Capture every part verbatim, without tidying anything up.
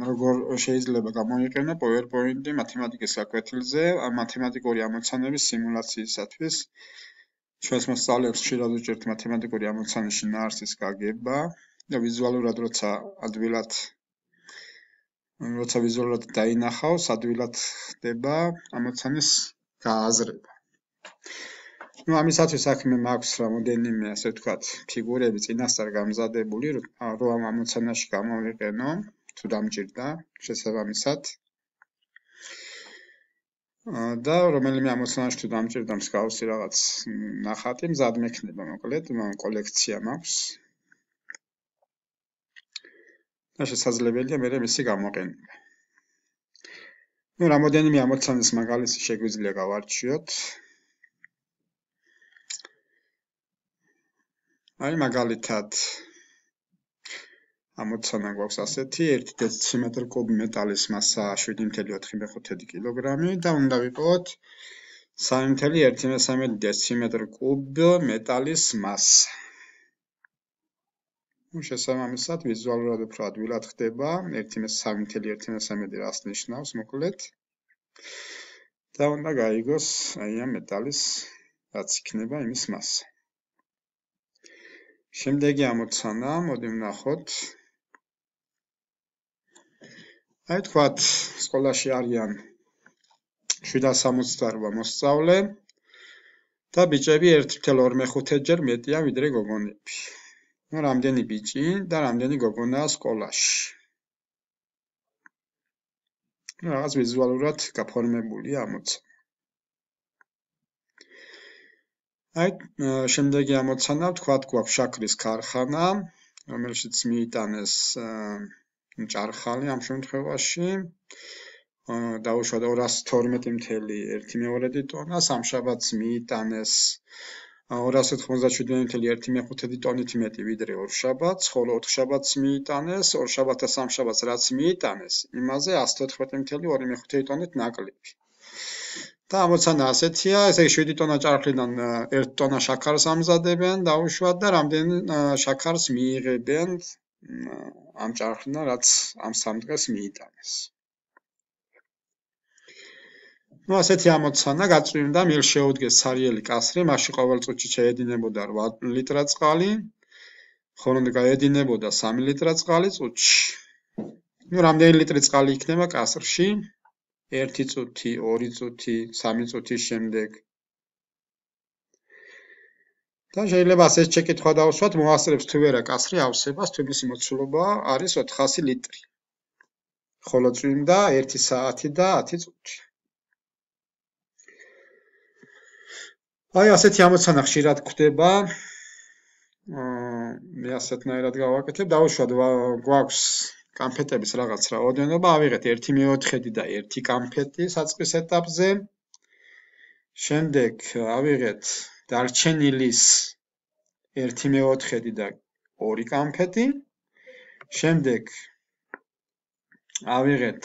როგორ შეიძლება გამოიყენო PowerPoint-ი მათემატიკის გაკვეთილზე, მათემატიკური ამოცანების სიმულაციისათვის. ჩვენს მოსწავლეებს ხშირად უჭერთ მათემატიკური ამოცანის შინაარსის გაგება და ვიზუალურად როცა ადვილად როცა ვიზუალურად დაინახავს, ადვილად ხდება ამოცანის გააზრება. Ну, ამისათვის საქმე მაქვს რამოდენიმე, ასე ვთქვათ, ფიგურები წინასწარ გამზადებული, რომ ამ ამოცანაში გამოვიყენო, თუ დამჭირდა, შესაბამისად. და რომელიმე ამოცანაში თუ დამჭირდა მსგავსი რაღაც ნახატი, მზად მექნება, მოკლედ, კოლექცია მაქვს. და შესაძლებელია მერე მისი გამოყენება. Ну, რამოდენიმე ამოცანის მაგალითი შეგვიძლია გავარჩიოთ. აი მაგალითად ამოცანა გვაქვს ასეთი, ერთი დეციმეტრ კუბ მეტალის მასა შვიდი ნული ოთხი მეხუთე კილოგრამი და უნდა ვიყოთ სამი ნული ერთი მესამე დეციმეტრ კუბ მეტალის მასა. ну, შესაბამისად ვიზუალურად უფრო ადვილად ხდება, სამი ნული ერთი მესამე რას ნიშნავს, მოკლედ. და უნდა გაიგოს აი ამ მეტალის რაც იქნება იმის მასა. შემდეგი ამოცანა, მოდი ვნახოთ. აი თქვათ, სკოლაში არიან შვიდას სამოცდაოთხ მოსწავლე და ბიჭები ერთი ნული ორი მეხუთე ჯერ მეტია ვიდრე გოგონები. ну, რამდენი ბიჭი და რამდენი გოგონაა სკოლაში. ну, რაღაც ვიზუალურად გაფორმებულია ამოცანა. აი, შემდეგი ამოცანა, ვთქვათ, გვაქვს შაქრის ქარხანა, რომელშიც მიიტანეს ჭარხალი ამ შემთხვევაში. დაუშვათ ორას თორმეტი ნული ერთი მეორედი ტონა, სამშაბათს მიიტანეს ორას ოთხმოცდაშვიდი ნული ერთი მეხუთე ტონით მეტი ვიდრე ორშაბათს, ხოლო ოთხშაბათს მიიტანეს, ორშაბათს და სამშაბათს რაც მიიტანეს, იმაზე ასი თოთხმეტი ნული ორი მეხუთე ტონით ნაკლები. და ამოცანა ასეთია, ესე იგი შვიდი ტონა ჭარხლიდან ერთი ტონა შაქარს ამზადებენ, დაუშვათ და რამდენი შაქარს მიიღებენ ამ ჭარხლიდან, რაც ამ სამ დღეს მიიტანეს. ну, ასეთი ამოცანა გაწვიმდა, მიერ შეუდგეს ცარიელი კასრი, მასში ყოველ წუთში შეედინებოდა რვა ლიტრა წყალი, ხოლო გაედინებოდა სამი ლიტრა წყალი წუთში. ну, რამდენი ლიტრი წყალი იქნება კასრში? ერთი წუთი, ორი წუთი, სამი წუთის შემდეგ. და შეიძლება ასეთ შეკითხვა დავუსვათ, მოასწრებს თუ ვერა კასრი ავსებას, თვისი მოცულობა არის ოთხასი ლიტრი. ხოლო წვიმდა ერთი საათი და ათი წუთი. აი ასეთი ამოცანა ხშირად გვხვდება. მე ასეთნაირად გავაკეთებ, დავუშვათ გვაქვს კამფეტების რაღაც რაოდენობა, ავიღეთ ერთი მეოთხედი და ერთი კამფეტი საწყის ეტაპზე. შემდეგ ავიღეთ დარჩენილის ერთი მეოთხედი და ორი კამფეტი. შემდეგ ავიღეთ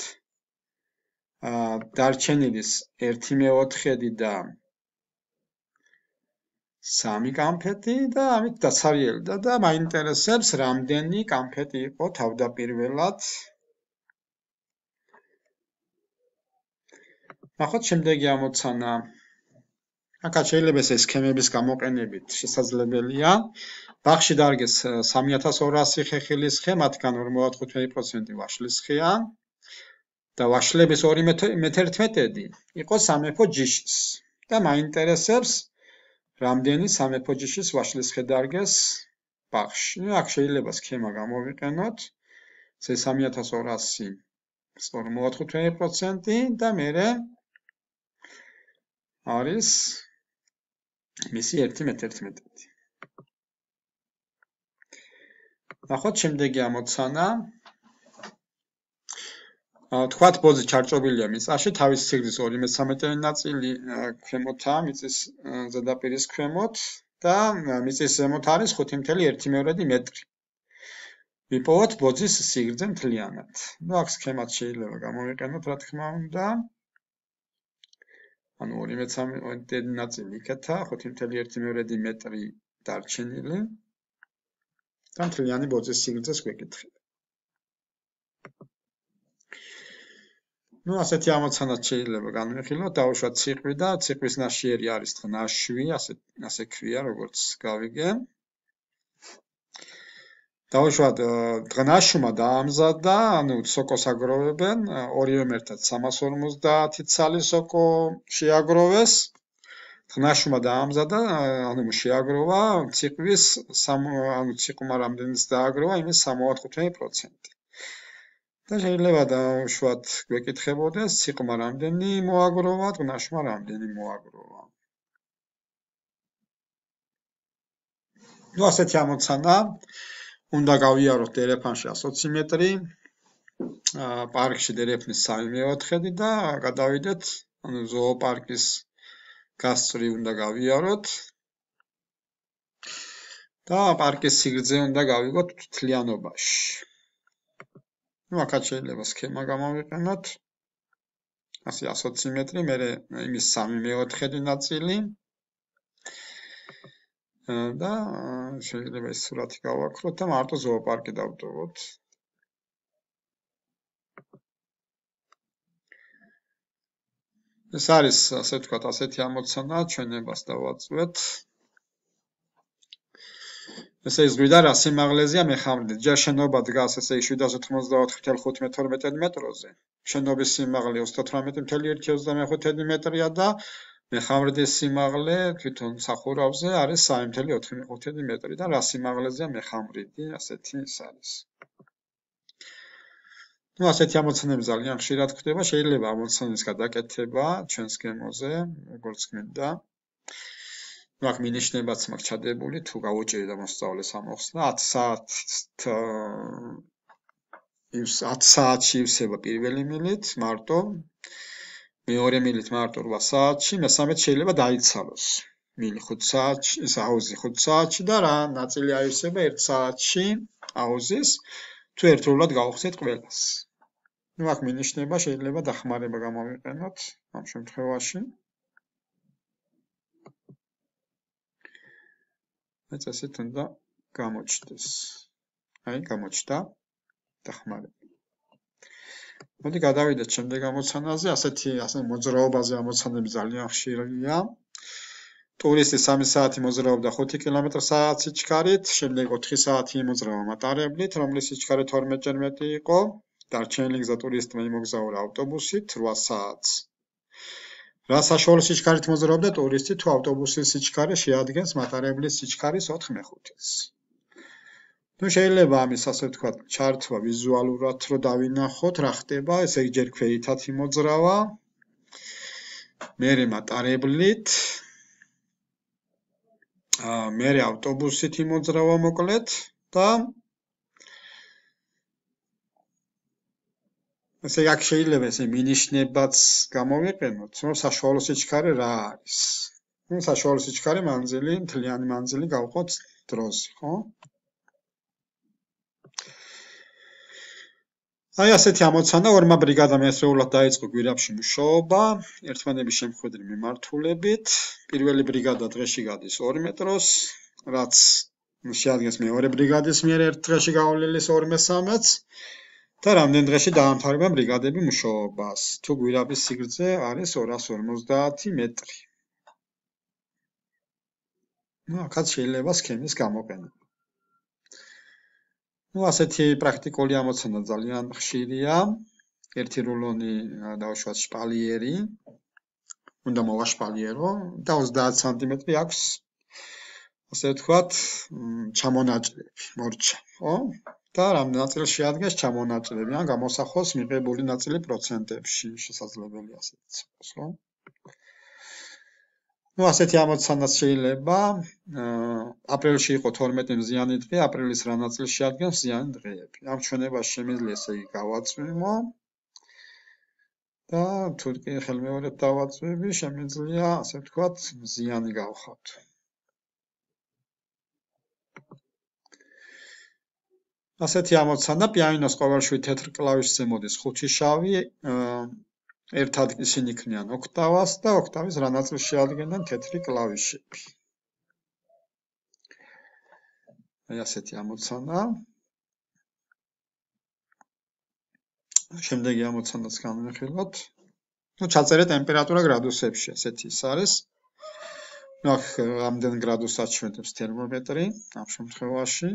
დარჩენილის ერთი მეოთხედი და სამი კამფეტი და ამით დაცარიელდა და მაინტერესებს რამდენი კამფეტი იყო თავდაპირველად. ნახოთ შემდეგი ამოცანა. აქაც შეიძლება ეს სქემების გამოყენებით შესაძლებელია. ბაღში დარგეს სამი ათას ორასი ხეხილის ხე, მათგან ორმოცდათხუთმეტი პროცენტი ვაშლის ხეა და ვაშლების ორი მეთერთმეტედი იყო სამეფო ჯიშის. და მაინტერესებს რამდენი სამეფო ჯიშის ვაშლის ხე დარგეს ბაღში. აქ შეიძლება სქემა გამოვიყენოთ. ეს სამი ათას ორასი ორმოცდათხუთმეტი პროცენტი და მერე არის მისი ერთი მეთერთმეტედი. ნახოთ შემდეგი ამოცანა. თქვათ ბოძი ჩარჭობილია მიწაში, თავის სიგრძის ორი მესამედიანი ნაწილი ქვემოთაა, მიწის ზედაპირის ქვემოთ და მიწის ზემოთ არის ხუთი ნული ერთი მეორედი მეტრი. ვიპოვოთ ბოძის სიგრძე მთლიანად. ну, აქ სქემად შეიძლება გამოვიყენოთ, რა თქმა უნდა. ანუ ორი მესამედი ნაწილი იქეთა, ხუთი ნული ერთი მეორედი მეტრი დარჩენილი. და მთლიანი ბოძის სიგრძეს გვეკითხება. ნუ ასეთი ამოცანაც შეიძლება განვიხილოთ, დავუშვათ ციყვი და ციკვის ნაშიერი არის დღნაშვი, ასე ასე ქვია, როგორც გავიგე. დავუშვათ დღნაშვმა დაამზადა, ანუ სოკოს აგროვებენ, ორივემ ერთად სამას ორმოცდაათი ცალი სოკო შეაგროვეს. დღნაშვმა დაამზადა, ანუ შეაგროვა ციკვის, ანუ ციკმა რამდენიც დააგროვა, იმის სამოცდათხუთმეტი პროცენტი. და შეიძლება დავუშვათ გვეკითხებოდეს, ციკმა რამდენი მოაგროვა, დღნაშვმა რამდენი მოაგროვა. ნუ ასეთი ამოცანა უნდა გავიაროთ დერეფანში ოცი მეტრი, პარკში დერეფნის სამი მეოთხედი და გადავიდეთ, ანუ ზოოპარკის გასწვრივ უნდა გავიაროთ და პარკის სიგრძე უნდა გავიგოთ თლიანობაში. ნუ აქაც შეიძლება სქემა გამოვიყენოთ. ასე ოცი მეტრი, მერე იმის სამი მეოთხედი ნაწილი და შეიძლება ეს სურათი გავაკროთ და მარტო ზოოპარკი დავტოვოთ. ეს არის, ასე ვთქვათ, ასეთი ამოცანა, ჩვენებას დავაწვეთ. ესე ის გვიდა რა სიმაღლეზეა მეხამრით. ჯერ შენობა დგას ესე შვიდას ოთხმოცდაოთხი ათეული ხუთმეტი მეტროზე. შენობის სიმაღლე ოცდაოთხმეტი ათეული ოცდამეხუთი მეტრია და მეხამრეთის სიმაღლე თვითონ სახურავზე არის სამი ათეული ოთხმოცდაოთხი მეტრი და რა სიმაღლეზეა მეხამრეთი, ასეთი ის არის. ნუ ასეთი ამოცანები ძალიან ხშირად ხდება, შეიძლება ამოცანის გადაკეთება ჩვენს გემოზე, როგორც გინდა. ნუ აქ მინიშნებაც მაქვს ჩადებული, თუ გავუჭირი და მოსწავლეს ამოხსნა, ათი საათში ივსება პირველი მილით, მარტო, მეორე მილით მარტო რვა საათში, მესამეც შეიძლება დაიცალოს. მილი ხუთ საათში, ეს აუზი ხუთ საათში და რა ნაწილი აივსება ერთ საათში აუზის, თუ ერთდროულად გავხსნით ყველას. ნუ აქ მინიშნება შეიძლება დახმარება გამოვიყენოთ ამ შემთხვევაში. ეს ასეთ უნდა გამოჩნდეს. აი, გამოჩნდა დახმარება. მოდი გადავიდეთ შემდეგ ამოცანაზე, ასეთი ასე მოძრაობაზე ამოცანები ძალიან ხშირია. ტურისტი სამი საათი მოძრაობდა ხუთი კილომეტრი საათი სიჩქარით, შემდეგ ოთხი საათი იმოძრავა მატარებლით, რომლის სიჩქარე თორმეტი მეტრი იყო. დარჩენილი გზა ტურისტმა იმოგზაურა ავტობუსით რვა საათს. რა საშუალო სიჩქარით მოძრაობდა ტურისტი, თუ ავტობუსის სიჩქარე შეადგენს მატარებლის სიჩქარის ოთხ მეხუთეს. ნუ შეიძლება ამის ასე ვთქვათ, ჩართვა ვიზუალურად რო დავინახოთ, რა ხდება, ესე იგი ჯერ ქვეითად იმოძრავა, მერე მატარებლით, მერე ავტობუსით იმოძრავა მოკლედ და ესე აქ შეიძლება ესე მინიშნებაც გამოვიყენოთ, რომ საშუალო სიჩქარე რა არის. ნუ საშუალო სიჩქარე მანძილი, მთლიანი მანძილი გავყოთ დროზე, ხო? აი ასეთი ამოცანა ორმა ბრიგადამ ერთდროულად დაიწყო გვირაბში მუშაობა, ერთმანების შემხედრი მიმართულებით. პირველი ბრიგადა დღეში გადის ორი მეტროს, რაც შეადგენს მეორე ბრიგადის მიერ ერთ დღეში გავლის ორი მესამეც. და რამდენ დღეში დაამთავრება ბრიგადები მუშაობას, თუ გვირაბის სიგრძე არის ორას ორმოცდაათი მეტრი. ნუ აქაც შეიძლება სქემის გამოყენება. ნუ ასეთი პრაქტიკული ამოცანა ძალიან ხშირია. ერთი რულონი დავუშვათ შპალიერი, უნდა მოვაშპალიერო და ოცდაათი სანტიმეტრი აქვს, ასე ვთქვათ, ჩამონაჭრები, მორჩა, ხო? და რამდენ ნაწილს შეადგენს ჩამონაჭრები, ან გამოსახოს მიღებული ნაწილი პროცენტებში, შესაძლებელია ასეთიც იყოს, ხო? ნუ ასეთი ამოცანაც შეიძლება, აპრილში იყო თორმეტი მზიანი დღე, აპრილის რა ნაწილს შეადგენს მზიანი დღეები. ამ ჩვენებას შემიძლია ესე იგი გავაწვიმო და თუ კი ხელმეორედ დავაწვევი, შემიძლია, ასე ვთქვათ, მზიანი გავხოთ. ასეთი ამოცანა პიანინოს ყოველ შვიდ თეთრ კლავიშზე მოდის ხუთი შავი, ერთად ისინი ქმნიან ოქტავას და ოქტავის რა ნაწილს შეადგენენ თეთრი კლავიშები. აი ასეთი ამოცანა. შემდეგი ამოცანაც განვიხილოთ. ну ჩაწერე ტემპერატურა გრადუსებში, ესეთი ის არის. ну აქ რამდენ გრადუსს აჩვენებს თერმომეტრი ამ შემთხვევაში.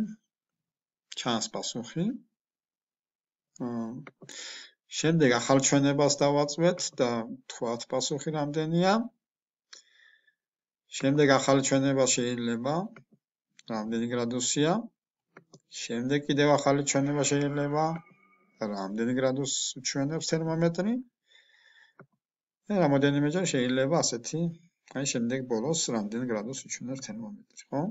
ჩანს პასუხი. შემდეგ ახალ ჩვენებას დავაწვეთ და თქვათ პასუხი რამდენია. შემდეგ ახალი ჩვენება შეიძლება რამდენი გრადუსია. შემდეგ კიდევ ახალი ჩვენება შეიძლება რამდენი გრადუსს უჩვენებს თერმომეტრი. და რამოდენიმეჯერ შეიძლება ასეთი, აი შემდეგ ბოლოს რამდენი გრადუსს უჩვენებს თერმომეტრი, ხო?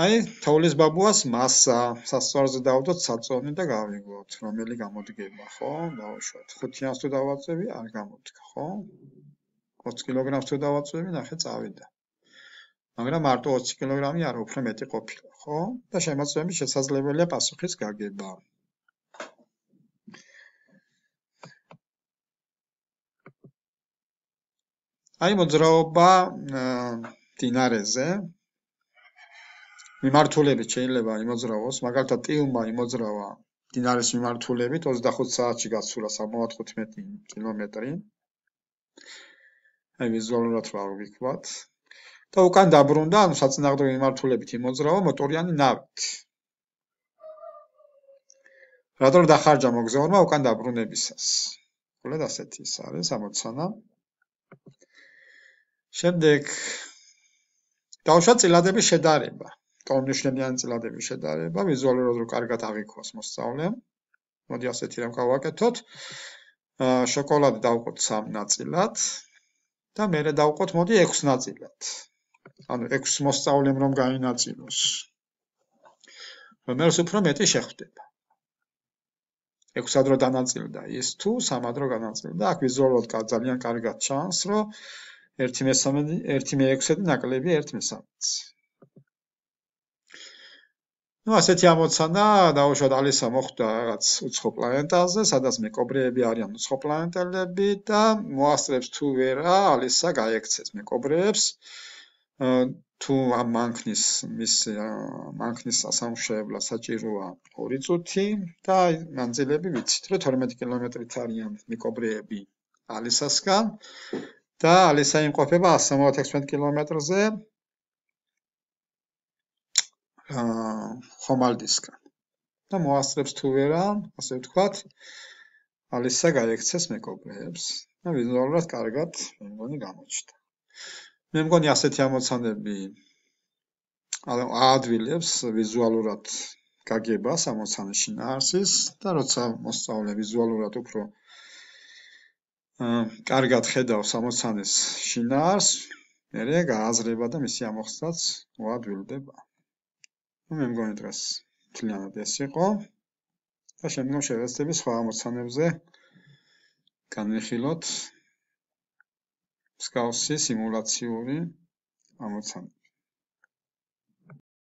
აი თოვლის ბაბუას მასა სასწორზე დავდოთ საწონი და გავიგოთ რომელი გამოდგება, ხო? დავუშვათ. ხუთიანს თუ დავაწევი, არ გამოდგა, ხო? ოცი კილოგრამს თუ დავაწევი, ნახე წავიდა. მაგრამ მარტო ოცი კილოგრამი არა, უფრო მეტი ყოფილა, ხო? და შემოწმებით შესაძლებელია პასუხის გაგება. აი მოძრაობა მდინარეზე მიმართულებით შეიძლება იმოძრავოს, მაგალითად ტილმა იმოძრავა მდინარის მიმართულებით ოცდახუთ საათში გასულა სამოცდათხუთმეტი კილომეტრი. აი ვიზუალურად რა ვიქვათ. და უკან დაბრუნდა, ანუ საწინააღმდეგო მიმართულებით იმოძრავა მოტორიანი ნავით. რატომ დახარჯა მოგზაურმა უკან დაბრუნებისას? გულად ასეთი ის არის ამოცანა. შემდეგ დავუშვათ წილადების შედარება. ტოლმნიშნებიანი წილადების შედარება, ვიზუალურად რო კარგად აღიქვას მოსწავლემ. მოდი ასეთი რამ გავაკეთოთ. შოკოლადი დავყოთ სამ ნაწილად და მერე დავყოთ მოდი ექვს ნაწილად. ანუ ექვს მოსწავლემ რომ გაინაწილოს. რომელს უფრო მეტი შეხვდება. ექვსად რო დანაწილდა ის თუ სამად რო განაწილდა, აქ ვიზუალურად ძალიან კარგად ჩანს, რომ ერთი მესამედი, ერთი მეექვსედი ნაკლები ერთ მესამედს. ну ასეთი ამოცანა დავუშვათ ალისა მოხდა რაღაც უცხო პლანეტაზე, სადაც მეკობრეები არიან უცხო პლანეტელები და მოასწრებს თუ ვერა ალისა გაექცეს მეკობრეებს. თუ ამ მანქნის მის მანქნის სასამშეებლად საჭიროა ორი წუთი და მანძილები ვიცით, რომ თორმეტი კილომეტრით არიან მეკობრეები ალისასგან და ალისა იმყოფება ასი სამოცდაექვსმეტ კილომეტრზე ხომალდისგან. და მოასწრებს თუ ვერა, ასე ვთქვათ, ალისა გაექცეს მეკობრეებს და ვიზუალურად კარგად მე მგონი გამოჩნდა. მე მგონი ასეთი ამოცანები აადვილებს ვიზუალურად გაგებას ამოცანის შინაარსის და როცა მოსწავლე ვიზუალურად უფრო კარგად ხედავს ამოცანის შინაარსს, მერე გააზრება და მისი ამოხსნაც მოადვილდება. მე მგონი დღეს მთლიანად ეს იყო და შემდგომ შევეცდები სხვა ამოცანებზე განვიხილოთ მსგავსი სიმულაციური ამოცანები.